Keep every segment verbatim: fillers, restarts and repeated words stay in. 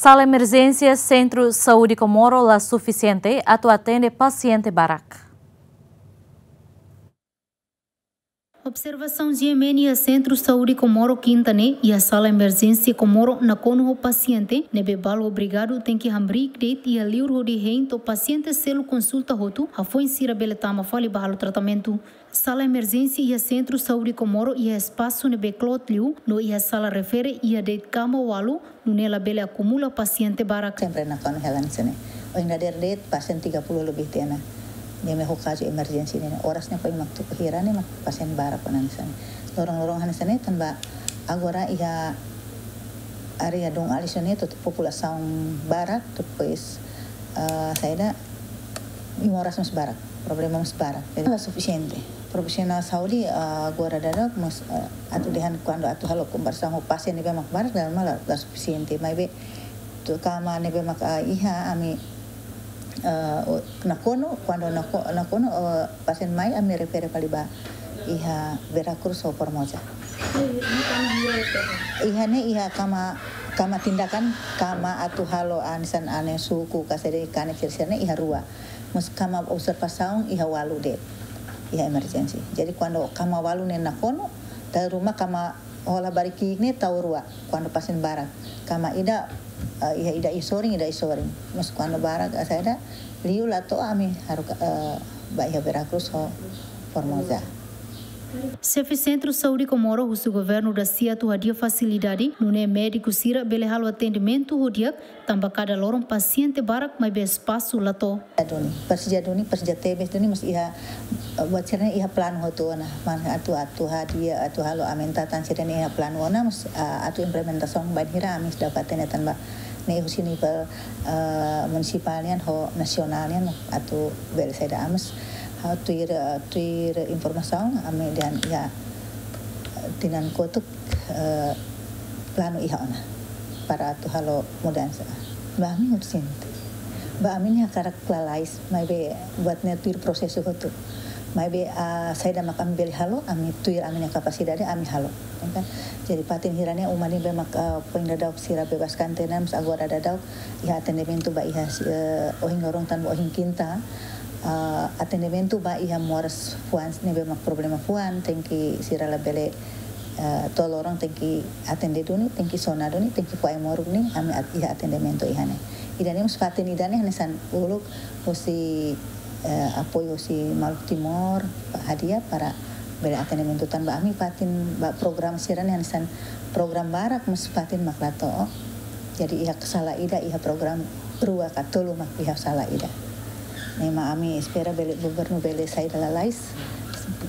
Sala emerjénsia Sentru Saúde Comoro la sufisiente atu atende pasiente barak. Observasaun GMN iha Sentru Saúde Comoro Kinta ne'e, iha sala emerjénsia Comoro nakonu ho pasiente ne'ebé balu obrigadu tenke hamriik de'it iha liur hodi hein to'o pasiente seluk konsulta hotu, hafoin sira bele tama fali ba halo tratamentu. Sala emerjénsia iha Sentru Saúde Comoro iha espasu ne'ebé kloot liu, no iha sala refere iha de'it kama ualu, nune'e labele akumula pasiente barak. Sempre nakonu hela hanesan ne'e. Ohin dadeer de'it pasiente tiga puluh lebih tiha ona. Ne'e mak ho kazu emerjénsia ne'e. Oras ne'e paling mak tuku hira ne'e mak pasiente barak ona hanesan ne'e. Lorong-lorong hanesan ne'e tanba agora iha área Dom Alisson ne'e to'o populasaun barak, depois, eh, saida, moras mós barak, problema mós barak. Jadi la sufisiente. Profisionál saúde, ah, agora daudaun mós, ah, atu dehan kuandu atu halo komparasaun ho pasiente ne'ebé mak barak, dala ruma la, la sufisiente. Maibé to'o kama ne'ebé mak, ah, iha ami, ah, o-, nakonu, kuandu nako-, nakonu, ah, pasiente mai ami refere fali ba iha Vera Cruz ho Formosa. Iha ne'e iha kama, kama tindakan, kama atu halo hanesan ane suku, ka saida, kanek sira-sira ne'e iha rua. Mós kama observasaun iha ualu de'it, iha emerjénsia. Jadi kuandu kama ualu ne'e nakonu, dala ruma kama ho labarik ki'ik ne'e tau rua, kuandu pasiente barak. Kama ida, eh, iha ida iha sorin, ida iha sorin. Mós kuandu barak, eh, saida, liu la to'o ami haruka, eh, ba iha Vera Cruz ho Formosa. Xefe Sentru Saúde Comoro husu governu dasia atu hadi'a fasilidade, nune'e médiku sira bele halo atendimentu ho di'ak, tanba kada loron pasiente barak maibé espasu la to'o. Duni, presiza duni, presiza tebes duni, mós iha, eh, buat sira-ne'e iha planu hotu ona, mak atu, atu hadi'a, atu halo aumenta tan sira-ne'e iha planu ona, mós, ah, atu implementasaun bainhira ami sei dapat hatene tanba ne'e husi nivel, eh, munisipál nian ho nasionál nian atu bele saida, mós, ah, tuir, eh, tuir informasaun ami dehan iha, eh, tinan kotuk, eh, planu iha ona para atu halo mudansa. Ba ami urjente. Ba ami ne'e hakarak lalais, maibé buat ne'e tuir prosesu hotu. Maibé, ah, saida mak ami bele halo, ami tuir ami-nia kapasidade ami halo. Entaun, jadi fatin hira-ne'e uma ne'ebé mak, ah, foin daudauk sira bebas karantina, mós agora daudauk iha atendimentu ba iha, eh, ohin loron tan ba ohin kinta, ah, atendimentu ba iha moras fuan ne'ebé mak problema fuan, tenke sira labele, eh, to'o loron tenke atende duni, tenke sona duni, tenke fó ai-moruk ne'e, ami at-, iha atendimentu iha ne'e. Ida-ne'e mós fatin ida-ne'e hanesan uluk husi, eh, apoiu husi maluk Timor, hadi'a para bele atendimentu tanba ami fatin ba programa sira-ne'e hanesan programa barak mós fatin mak la to'o. Jadi iha sala ida, iha programa rua ka tolu mak iha sala ida. Ne'e mak ami espera bele governu bele saida lalais,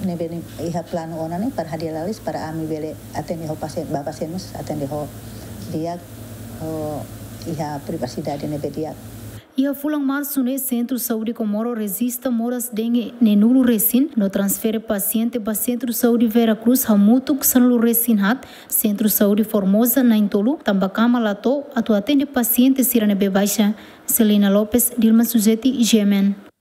ne'ebé ne'e iha planu ona ne'e para hadi'a lalais para ami bele atende ho pasiente, ba pasiente mós atende ho di'ak, ho iha privasidade ne'ebé di'ak. Iha fulan Marsu ne'e Sentru Saúde Comoro rejista moras dengue neenulu resin, no transfere pasiente ba Sentru Saúde Vera Cruz hamutuk sanulu resin haat, Sentru Saúde Formosa na'in-tolu, tanba kama la to'o atu atende pasiente sira ne'ebé baixa. Selina Lopes, Dilma Suzeti, GMN.